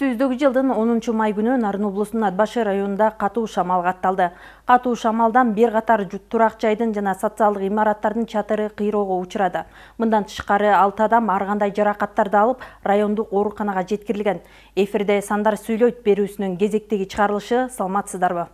Үстүбүздөгү жылдын 10 май күнү Нарын облусунун Ат Башы районунда катуу шамал катталды. Катуу шамалдан бир катар турак жайдын жана социалдык имараттардын чатыры кыйроого учурады. Мындан тышкары 6 адам ар кандай жаракаттарды алып, райондук ооруканага жеткирилген. Эфирде Сандар сүйлөйт берүүсүнүн кезектеги чыгарылышы, саламатсыздарбы?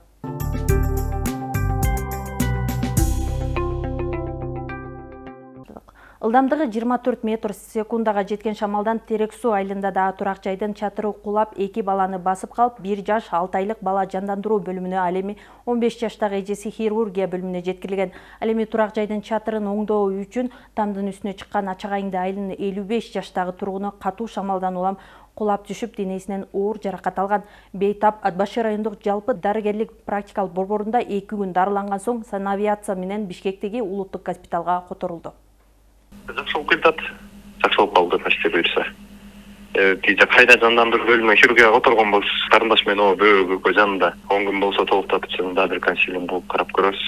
Ылдамдыгы 24 метр секундага жеткен шамалдан Терек суу айылында да турак жайдын чатыры кулап, 2 баланы басып калып, 1 жаш 6 айлык бала жандандыруу бөлүмүнө, ал эми 15 жаштагы эжеси хирургия бөлүмүнө жеткирилген. Ал эми турак жайдын чатырын оңдоо үчүн тамдын үстүнө чыккан Ачагайыңды айылынын 55 жаштагы тургуну катуу шамалдан улам кулап түшүп, денесинен оор жаракат алган. Бейтап Ат Башы райондук жалпы дарыгерлик практикалык борборунда 2 күн дарыланган соң санавиация менен Бишкектеги улуттук госпиталга которулду. Жакшы болуп кетет. Жакшы болуп калды почти буюрса. Тиже кайда жандандыруу бөлүмүнө хирургияга которгон болсо, карындаш менен бөөгө жанында 10 күн болсо толуктатып чынында бир консилиум болуп карап көрөбүз.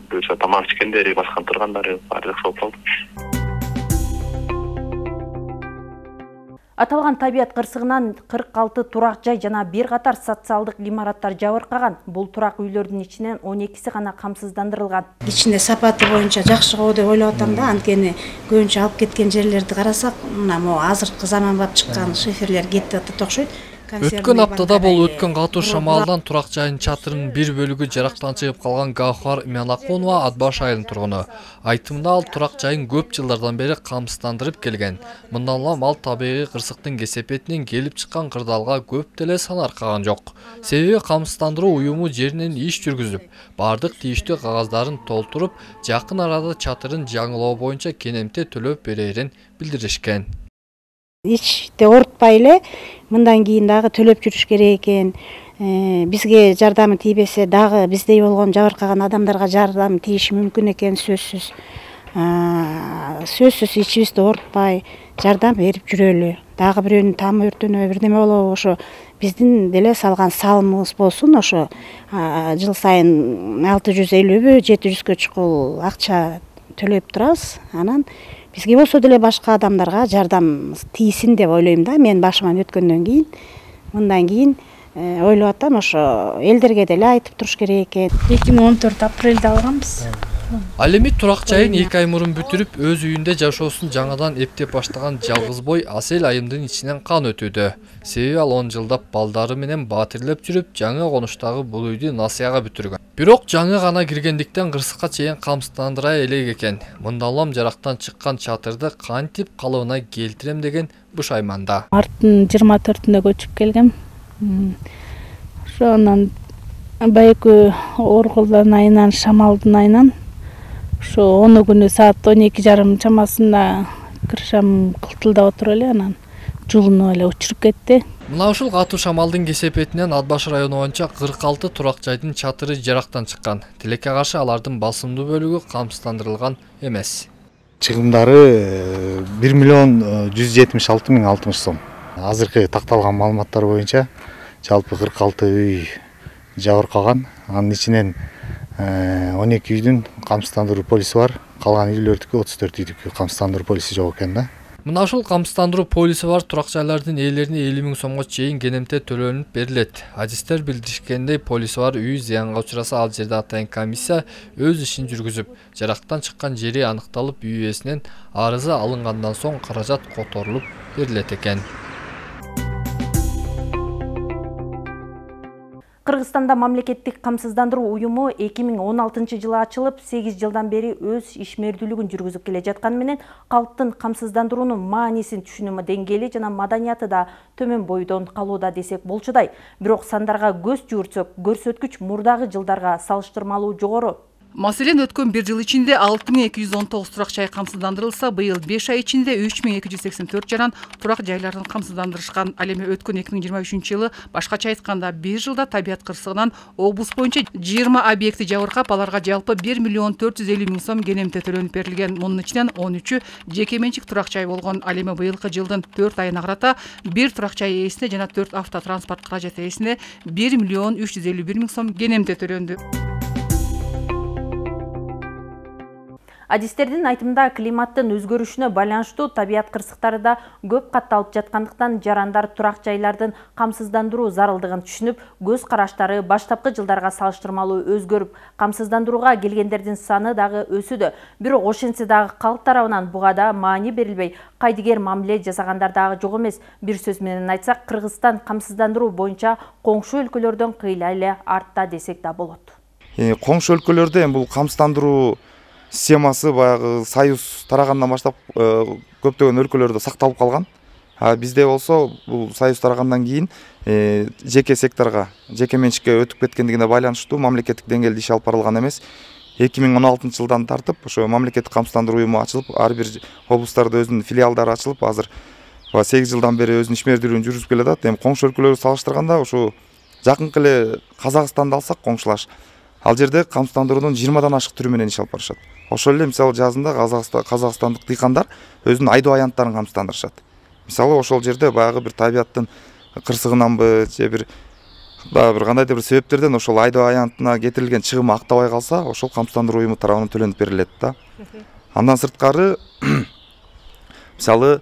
Буюрса тамак ичкендери, баскан тургандары баары жакшы болуп калды. Аталган табият кырсыгынан 46 турак жай жана бир катар социалдык имараттар жабыркаган. Бул турак үйлөрдүн ичинен 12си гана камсыздандырылган. Ичинде сапаты боюнча жакшы го деп ойлоп атам да, анткени көбүнчө алып кеткен жерлерди карасак, мына могу азыркы заманбап чыккан шиферлер кетип атат окшойт. Өткөн аптада бул өткөн катуу шамалдан турак жайын чатырынын бир бөлүгү жарактан чыгып калган Гахар Иманакунова Ат Баш айылынын тургуну. Айтымында ал турак жайын көп жылдардан бери камсыздандырып келген. Мындан улам ал табигый кырсыктын кесепетинен келип чыккан кырдаалга көп деле санаркаган жок. Себеби камсыздандыруу уюму жеринен иш жүргүзүп, бардык тийиштүү кагаздарын толтуруп, жакын арада чатырын жаңылоо боюнча кенемте төлөп берерин билдиришкен. Ичте оорутпай эле мындан кийин дагы төлөп жүрүш керек экен. Бизге жардамы тийбесе дагы биздей болгон жабыркаган адамдарга жардам тийиши мүмкүн экен, сөзсүз. Сөзсүз ичибизди оорутпай жардам берип жүрөлү. Дагы бирөөнүн тамы өртөнөбү, бирдеме болобу, ошо биздин деле салган салымыбыз болсун. Ошо жыл сайын 650бү 700гө чукул акча төлөп турабыз. Анан бизге болсо деле башка адамдарга жардам тийсин деп ойлойм да. Мен башыман өткөндөн кийин, мындан кийин ойлоп атам, ошо элдерге деле айтып туруш керек экен. 2014 апрелде алганбыз. Ал эми турак жайын 2 ай мурун бүтүрүп, өз үйүндө жашоосун жаңадан эптеп баштаган жалгыз бой Асел айымдын ичинен кан өтүүдө. Себеби ал 10 жылдап балдары менен батирлеп жүрүп, жаңы конуштагы бул үйдү насыяга бүтүргөн. Бирок жаңы гана киргендиктен кырсыкка чейин камсыздандыра элек экен. Мындан улам жарактан чыккан чатырды кантип калыбына келтирем деген бушайманда. Марттын 24-үндө көчүп келгем. Ошонан байкы Орголдон айынан, Шамалдын айынан ошо 10 күнү саат 12:30 чамасында кыршам кылтылдап отуруп эле, анан жулунуп эле учуруп кетти. Мына ушул катуу шамалдын кесепетинен Ат Баш району боюнча 46 турак жайдын чатыры жарактан чыккан. Тилекке каршы алардын басымдуу бөлүгү камсыздандырылган эмес. Чыгымдары 1.176.060 сом. Азыркы такталган маалыматтар боюнча жалпы 46 үй жабыркаган. Анын ичинен 12 үйдүн камсыздандыруу полиси бар. Калган үйлөрдүкү 34 үйдүкү камсыздандыруу полиси жок экен да. Мына ушул камсыздандыруу полиси бар турак жайлардын ээлерине 50 000 сомго чейин кенемте төлөнүп берилет. Адистер билдиришкендей, полиси бар үй зыянга учураса, ал жерде атайын комиссия өз ишин жүргүзүп, жарактан чыккан жери аныкталып, үй ээсинен арызы алынгандан соң каражат которулуп берилет экен. Кыргызстанда мамлекеттик камсыздандыруу уюму 2016-жылы ачылып, 8 жылдан бери өз ишмердүүлүгүн жүргүзүп келе жатканы менен калктын камсыздандыруунун маанисин түшүнүү деңгээли жана маданияты да төмөн бойдон калууда десек болчудай. Бирок сандарга көз жүгүртсөк, көрсөткүч мурдагы жылдарга салыштырмалуу жогору. Маселен, өткөн 1 жыл ичинде 6219 турак жай камсыздандырылса, быйыл 5 ай ичинде 3284 жаран турак жайларын камсыздандырышкан. Ал эми өткөн 2023-жылы башкача айтканда 1 жылда табият кырсыгынан облус боюнча 20 объекти жабыркап, аларга жалпы 1.450.000 сом кенемте төлөнүп берилген. Мунун ичинен 13-ү жеке менчик турак жай болгон. Ал эми быйылкы жылдын 4 айына карата 1 турак жай ээсине жана 4 автотранспорт каражат ээсине 1.351.000 сом кенемте төлөндү. Адистердин айтымында климаттын өзгөрүшүнө байланыштуу табият кырсыктары да көп катталып жаткандыктан жарандар турак жайлардын камсыздандыруу зарылдыгын түшүнүп, көз караштары баштапкы жылдарга салыштырмалуу өзгөрүп, камсыздандырууга келгендердин саны дагы өсүүдө. Бирок ошентсе дагы калк тарабынан буга да маани берилбей, кайдыгер мамиле жасагандар дагы жок эмес. Бир сөз менен айтсак, Кыргызстан камсыздандыруу боюнча коңшу өлкөлөрдөн кыйла эле артта десек да болот. Коңшу өлкөлөрдө бул камсыздандыруу системасы баягы Союз тарагандан баштап көптөгөн өлкөлөрдө сакталып калган. Бизде болсо бул Союз тарагандан кийин жеке секторго, жеке менчикке өтүп кеткендигине байланыштуу мамлекеттик деңгээлде иш алып барылган эмес. 2016-жылдан тартып ошо мамлекеттик камсыздандыруу уюму ачылып, ар бир облустарда өзүнүн филиалдары ачылып, азыр 8 жылдан бери өзүнүн ишмердүүлүгүн жүргүзүп келатат. Эми коңшу өлкөлөргө салыштырганда ошо жакынкы эле Казакстанды алсак, коңшулаш, ал жерде камсыздандыруунун 20дан ашык түрү менен иш алып барышат. Ошол эле мисалы жазында казакстандык дыйкандар өзүнүн айдоо аянттарын камсыздандырышат. Мисалы ошол жерде баягы бир табияттын кырсыгынанбы же бир кандайдыр бир себептерден ошол айдоо аянтына кетирилген чыгым актабай калса, ошол камсыздандыруу уюму тарабынан төлөнүп берилет да. Андан сырткары мисалы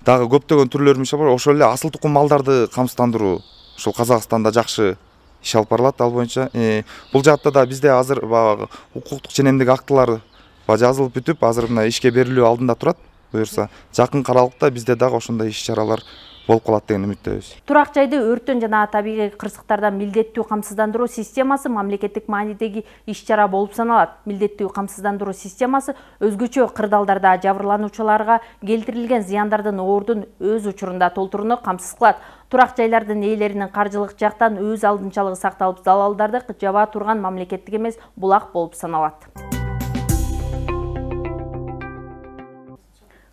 дагы көптөгөн түрлөрү бар. Ошол эле асыл тукум малдарды камсыздандыруу ошол Казакстанда жакшы иш алып барылат. Ал боюнча бул жаатта да бизде азыр баягы укуктук ченемдик актылар жазылып бүтүп, азыр мына ишке берилүү алдында турат. Буюрса, жакын аралыкта бизде дагы ошондой иш-чаралар болуп калат деген үмүттөбүз. Турак жайды өрттөн жана табигый кырсыктардан милдеттүү камсыздандыруу системасы мамлекеттик маанидеги иш-чара болуп саналат. Милдеттүү камсыздандыруу системасы өзгөчө кырдаалдарда жабырлануучуларга келтирилген зыяндардын оордун өз учурунда толтурууну камсыз кылат. Турак жайлардын ээлеринин каржылык жактан өз алдынчалыгы сакталып, залалдарды жаба турган мамлекеттик эмес булак болуп саналат.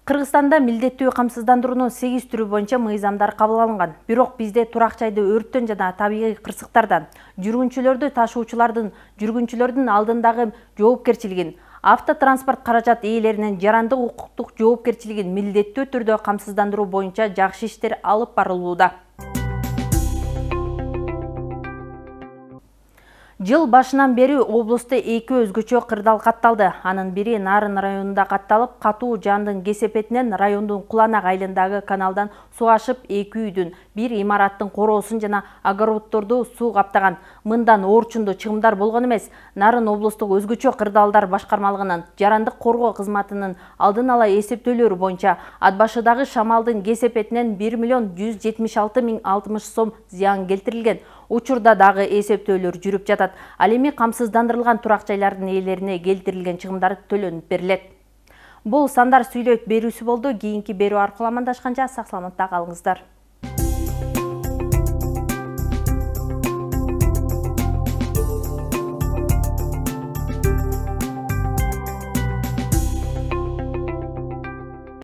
Кыргызстанда милдеттүү камсыздандыруунун 8 түрү боюнча мыйзамдар кабыл алынган. Бирок бизде турак жайды өрттөн жана табигый кырсыктардан, жүргүнчүлөрдү ташуучулардын жүргүнчүлөрдүн алдындагы жоопкерчилигин, автотранспорт каражат ээлеринин жарандык укуктук жоопкерчилигин милдеттүү түрдө камсыздандыруу боюнча жакшы иштер алып барылууда. Жыл башынан бери облусту 2 өзгөчө кырдаал катталды. Анын бири Нарын районунда катталып, катуу жаандын кесепетинен райондун Куланак айылындагы каналдан суу ашып, 2 үйдүн, бир имараттын короосун жана огороддорду суу каптаган. Мындан оорчундуу чыгымдар болгон эмес. Нарын облустук өзгөчө кырдаалдар башкармалыгынын жарандык коргоо кызматынын алдын ала эсептөөлөрү боюнча ат башыдагы шамалдын кесепетинен 1.176.060 сом зыян келтирилген. Учурда дагы эсептөөлөр жүрүп жатат. Ал эми камсыздандырылган турак жайлардын ээлерине келтирилген чыгымдар төлөнүп берилет. Бул сандар сүйлөйт берүүсү болду. Кийинки берүү аркылуу амандашканча сак саламатта калыңыздар.